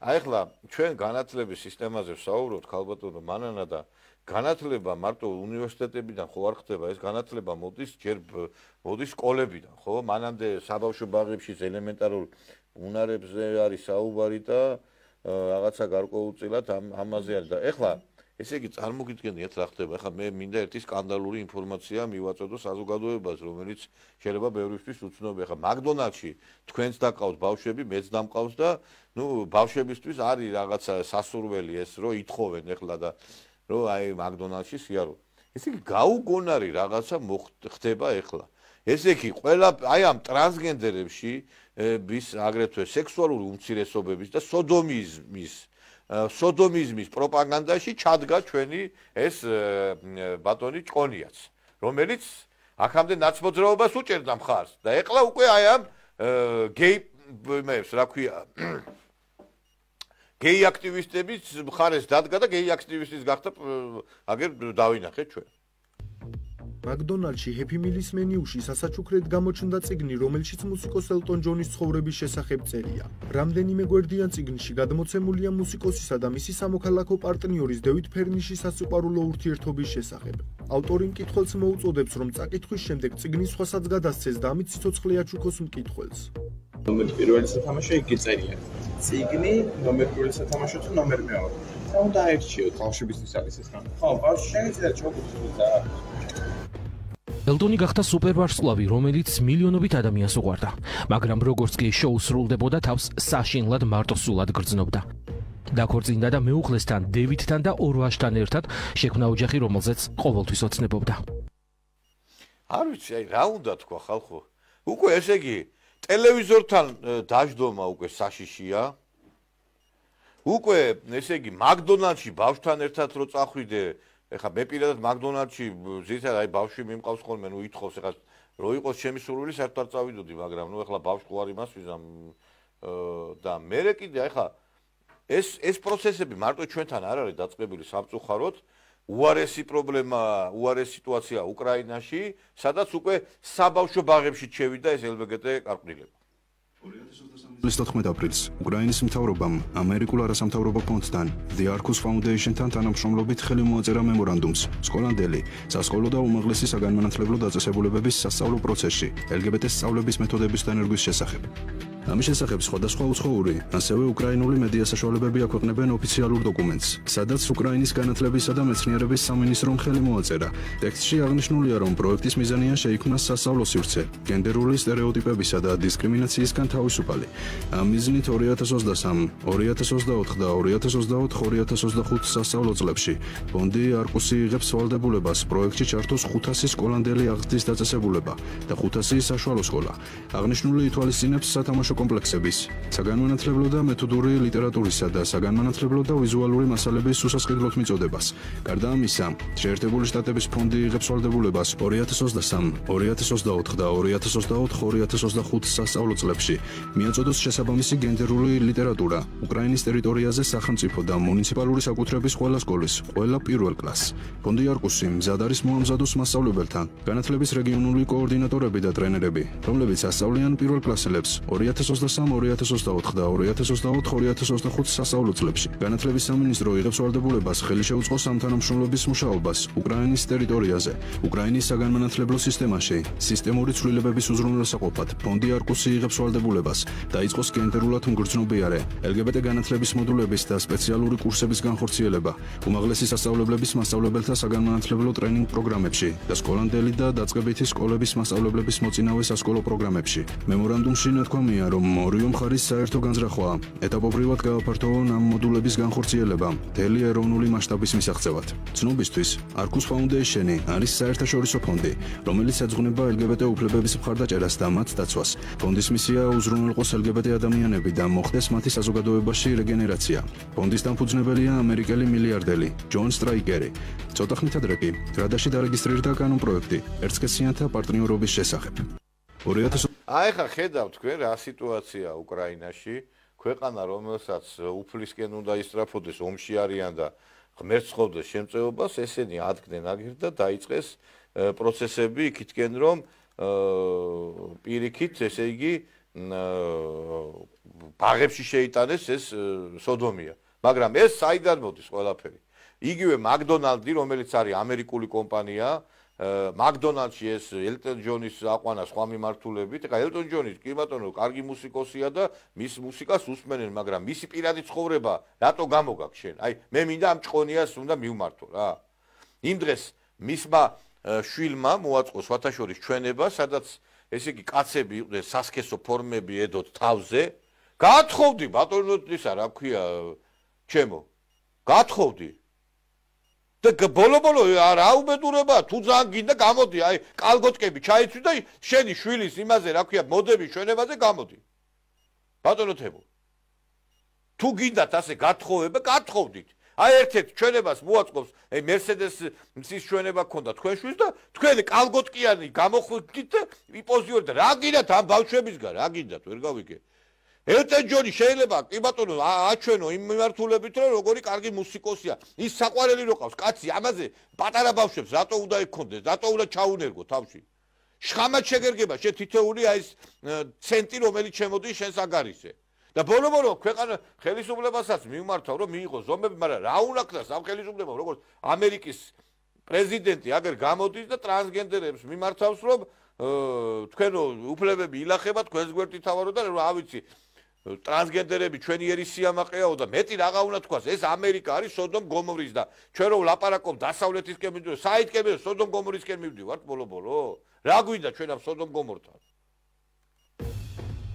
აი ახლა ჩვენ განათლების სისტემაზე ვსაუბრობთ, ქალბატონო მანანა და განათლება მარტო უნივერსიტეტებიდან ხო არ ხდება, ეს განათლება მოდის სკოლებიდან, ხო? მანამდე საბავშვო ბაღებში ელემენტარულ უნარებზე არის საუბარი და რაღაცა გარკვეულწილად ამაზე არის და ეხლა ესე იგი წარმოგიდგენიათ რა ხდება. ეხლა მე მინდა ერთი სკანდალური ინფორმაცია მივაწოდო საზოგადოებას, რომელიც შეიძლება ბევრისთვის უცნობია. ეხლა მაკდონალდში თქვენს დაკავთ ბავშვები, მეც დამყავს და ბავშვებისთვის არის რაღაცა სასურველი ეს რომ ითხოვენ ეხლა და რომ აი მაკდონალდში სიარო. ესე იგი გაუგონარი რაღაცა ხდება ეხლა. ესე იგი ყველა აი ამ ტრანსგენდერებში აგრეთვე სექსუალური უმცირესობების და სოდომიზმის პროპაგანდაში ჩადგა ჩვენი ეს ბატონი ჭკონიაც, რომელიც აქამდე ნაცმოძრაობას უჭერდა მხარს და ეხლა უკვე აი ამ გეი აქტივისტების მხარეს დადგა და გეი აქტივისტის გახდა აგერ დავინახეთ ჩვენ. მაკდონალდში ჰეპი მილის მენიუში სასაჩუქრად გამოჩნდა წიგნი, რომელშიც მუსიკოს ელტონ ჯონის ცხოვრების შესახებ წერია. რამდენიმე გვერდიან წიგნში გადმოცემულია მუსიკოსისა და მისი სამოქალაქო პარტნიორის დევიდ ფერნიშის სასიყვარულო ურთიერთობის შესახებ. ავტორი მკითხველს მოუწოდებს, რომ წაკითხვის შემდეგ წიგნი სხვასაც გადასცეს და ამით სიცოცხლე აჩუქოს მკითხველს. ნომერი პირველი სათამაშო იგი წერია. წიგნი ნომერ პირველი სათამაშო თუ ნომერ მეორე. რა უნდა აერჩიოთ ბავშვებისთვის არის ეს რამ. ხო, ბავშვი შეიძლება ჩოგუწვით და ელტონი გახდა სუპერვარსკვლავი, რომელიც მილიონობით ადამიანს უყვარდა, მაგრამ როგორც კი შოუ სრულდებოდა, თავს საშინლად მარტოსულად გრძნობდა. დაქორწინდა და მეუღლესთან, დევიდთან და ორ ვაჟთან ერთად შექმნა ოჯახი, რომელზეც ყოველთვის ოცნებობდა. არ ვიცი, აი რა უნდა თქვა ხალხო? უკვე ესე იგი ტელევიზორთან დაждდომა უკვე საშიშია. უკვე ესე იგი მაკდონალდში ბავშვთან ერთად რო წახვიდე ეხა მე პირადად მაკდონალდში ზუსტად აი ბავშვი მიმყავს ხოლმე, ითხოვს ეხა რო იყოს ჩემი სურვილი საერთოდ არ წავიდოდი, მაგრამ ეხლა ბავშვი ყوار იმას ვიზამ და მე კიდე ეხა ეს პროცესები მარტო ჩვენთან არ არის დაწყებული სამწუხაროდ, უარესი პრობლემა, უარესი სიტუაცია უკრაინაში, სადაც უკვე საბავშვო ბაღებში შევიდა ეს LGBT კარკვდილება. 2014 აპრილს უკრაინის მთავრობამ ამერიკულ არასამთავრობო ფონდთან The Arcus Foundation-თან თანამშრომლობით ხელი მოაწერა მემორანდუმს სკოლამდელი, სასკოლო და უმაღლესი საგანმანათლებლო დაწესებულებების სასწავლო პროცესში LGBT სწავლების მეთოდების დანერგვის შესახებ. ამის შესახებ სხვადასხვა უცხოური, ასევე უკრაინული მედია საშუალებები აქვეყნებენ ოფიციალურ დოკუმენტს, სადაც უკრაინის განათლებისა და მეცნიერების სამინისტრომ ხელი მოაწერა. ტექსტში აღნიშნულია, რომ პროექტის მიზანია შეიქმნას სასწავლო სივრცე, გენდერული სტერეოტიპებისა და დისკრიმინაციისგან თავისუფალი. ამ მიზნით 2023, 2024 და 2024-2025 სასწავლო წლებში ფონდი არკუსი იღებს ვალდებულებას პროექტში ჩართოს 500 სკოლამდელი აღზრდის დაწესებულება და 500 საშუალო სკოლა. აღნიშნული ითვალისწინებს სათამაშო კომპლექსების, საგანმანათლებლო და მეთოდური ლიტერატურისა და საგანმანათლებლო და ვიზუალური მასალების უსასყიდლოდ მიწოდებას. გარდა ამისა, შეერთებული შტატების ფონდი იღებს ვალდებულებას 2023, 2024 და 2024-2025 სასწავლო წლებში მიაწოდოს შესაბამისი გენდერული ლიტერატურა უკრაინის ტერიტორიაზე სახელმწიფო და მუნიციპალური საკუთრების ყველა სკოლის, ყველა პირველ კლასს. ფონდი არკუსი მზად არის მოამზადოს მასწავლებელთან, განათლების რეგიონული კოორდინატორები და ტრენერები, რომლებიც ასწავლიან პირველ კლასელებს 2023, 2024 და 2024-2025 სასწავლო წლებში. განათლების სამინისტრო იღებს ვალდებულებას ხელი შეუწყოს ამ თანამშრომლობის მუშაობას უკრაინის ტერიტორიაზე, უკრაინის საგანმანათლებლო სისტემაში, სისტემური ცვლილებების უზრუნველსაყოფად. ფონდი არკუსი იღებს ვალდებულებას დაიწყოს გენდერულად მგრძნობიარე LGBT განათლების მოდულების და სპეციალური კურსების განხორციელება, უმაღლესი სასწავლებლების მასწავლებელთა საგანმანათლებლო ტრენინგ პროგრამებში და სკოლამდელი და დაწყებითი სკოლების მასწავლებლების მოწინავე სასკოლო პროგრამებში. მემორანდუმში ნათქვამია, რომ ორივე მხარის საერთო განზრახვაა ეტაპობრივად გააფართოვონ ამ მოდულების განხორციელება მთელი ეროვნული მასშტაბის მისაღწევად. ცნობისთვის, Arcus Foundation-ი არის საერთაშორისო ფონდი, რომელიც ეძღვნება LGBT უფლებების მხარდაჭერას და მათ დაცვას. ფონდის მისია უზრუნველყოს LGBT ადამიანები და მოხდეს მათი საზოგადოებაში რეგენერაცია. ფონდის დამფუძნებელია ამერიკელი მილიარდერი ჯონ სტრაიკერი. ცოტა ხნით ადრე კი გრადაში დარეგისტრირდა კანონპროექტი ერთსქესიანთა პარტნიორობის შესახებ. აი ხა ხედავთ თქვენ რა სიტუაცია უკრაინაში, ქვეყანა რომელსაც უფლისკენ უნდა ისწრაფოდეს, ომში არიან და ღმერთს ხოვდეს შემწეობას, ესენი ადგნენ აგერ და დაიწყეს პროცესები იქითკენ რომ პირიქით, ესე იგი ბაღებში შეიტანეს ეს სოდომია. მაგრამ ეს საიდან მოდის ყველაფერი? იგივე McDonald's, რომელიც არის ამერიკული კომპანია, McDonald's-ში ეს ელტონ ჯონის აყვანა სხვა მიმართულებით. ეხლა ელტონ ჯონი კი ბატონო, კარგი მუსიკოსია და მის მუსიკას უსმენენ, მაგრამ მისი პირადი ცხოვრება რატო გამოგაქვს შენ? აი, მე მინდა ამ ჭყონიას უნდა მივმართო რა. იმ დღეს მისმა შვილმა მოაწყო სხვათაშორის ჩვენება, სადაც ესე იგი კაცები იყვნენ სასქესო ფორმები ედოთ თავზე. გათხოვდი ბატონო ისა რა ქვია ჩემო. გათხოვდი. და ბოლო-ბოლო რა უბედურება, თუ ძალიან გინდა გამოდი, აი კალგოტკები ჩაიცვი და შენი შვილის იმაზე რა ქვია, მოდები ჩვენებაზე გამოდი. ბატონო თემო. თუ გინდათ ასე გათხოვება, გათხოვდით. აი ერთ-ერთ ჩვენებას მოაწყობს, აი Mercedes-ის ჩვენება ქონდა თქვენ შვილს და თქვენი კალგოტკიანი გამოხვიდით და იპოზიორით რა გინდათ ამ ბავშვებისგან, რა გინდათ, ვერ გავიგე. ელტონ ჯონი შეიძლება კი ბატონო აჩვენო იმ მიმართულებით რომ როგორი კარგი მუსიკოსია. ის საყვარელი რო ყავს კაცი ამაზე პატარა ბავშვებს რატო უნდა ექონდეს, რატო უნდა ჩაუნერგო თავში. შხამად შეგერგება შე თითეული აი ეს ცენტი რომელიც შემოდის შენს აგარისე. და ბოლო-ბოლო ქვეყანა ხელისუფლებასაც მიმართავ რომ მიიღოს ზომები, მაგრამ რა უნდა ქნას ამ ხელისუფლებამ როგორც ამერიკის პრეზიდენტი აგერ გამოდის და ტრანსგენდერებს მიმართავს რომ თქვენო უფლებები ილახება თქვენს გვერდით თავარო და რა ვიცი ტრანსგენდერები ჩვენი ერის სიამაყეაო და მეტი რაღა უნდა თქვას ეს ამერიკა არის სოდომ გომორის და ჩვენ რო ვლაპარაკობ დასავლეთისკენ მივდივართ საითკენ სოდომ გომორისკენ მივდივართ ბოლო-ბოლო რა გვინდა ჩვენ ამ სოდომ გომორთან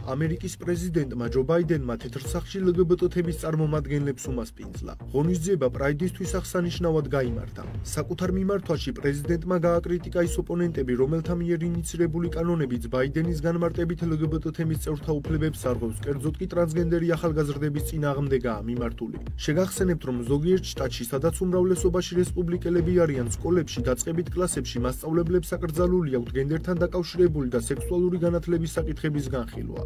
ამერიკის პრეზიდენტმა ჯო ბაიდენმა თეთრსახში LGBT თემის წარმომადგენლებს უმასპინძლა. ღონისძიება პრაიდისთვის აღსანიშნავად გაიმართა. საკუთარ მიმართვაში პრეზიდენტმა გააკრიტიკა ის ოპონენტები, რომელთა მიერ ინიცირებული კანონებიც ბაიდენის განმარტებით LGBT თემის წევრთა უფლებებს არღვევს, კერძოდ კი ტრანსგენდერი ახალგაზრდების წინააღმდეგაა მიმართული. შეგახსენებთ, რომ ზოგიერთ შტატში, სადაც უმრავლესობაში რესპუბლიკელები არიან, სკოლებში დაწყებით კლასებში მასწავლებლებს აკრძალული აქვთ გენდერთან დაკავშირებული და სექსუალური განათლების საკითხების განხილვა.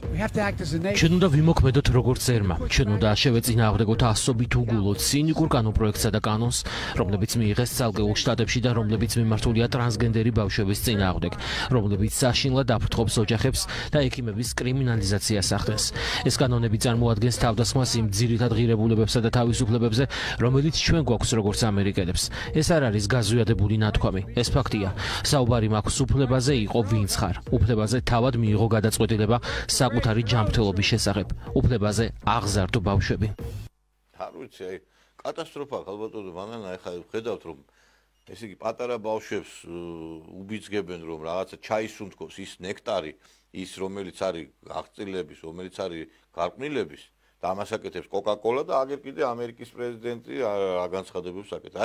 ჩვენ უნდა ვიმოქმედოთ როგორც ერმა. ჩვენ უნდა შევეწინააღმდეგოთ ასობით უგულოდ ცინიკურ კანონპროექტსა და კანონს, რომლებიც მიიღეს ცალკეულ შტატებში და რომლებიც მიმართულია ტრანსგენდერი ბავშვების წინააღმდეგ, რომლებიც საშინლად აფრთხობს ოჯახებს და ექიმების კრიმინალიზაციას ახდენს. ეს კანონები წარმოადგენს თავდასხმას იმ ძირითად ღირებულებებსა და თავისუფლებებზე, რომელიც ჩვენ გვაქვს როგორც ამერიკელებს. ეს არ არის გაზვიადებული ნათქვამი, ეს ფაქტია. საუბარი მაქვს უფლებაზე იყო ვინც ხარ, უფლებაზე თავად მიიღო გადაწყვეტილება საკუთარი ჯანმრთელობის შესახებ, უფლებაზე აღზარდო ბავშვები. არ ვიცი, აი კატასტროფა ხალბატონო მანანა ეხლა ხედავთ რომ ესე იგი პატარა ბავშვებს უბიძგებენ რომ რაღაცა ჩაისუნთქოს ის ნექტარი, ის რომელიც არის აღწილების, რომელიც არის გარყვნილების და ამას აკეთებს კოკა-კოლა და აგერ კიდე ამერიკის პრეზიდენტი რა განცხადებებს აკეთებს.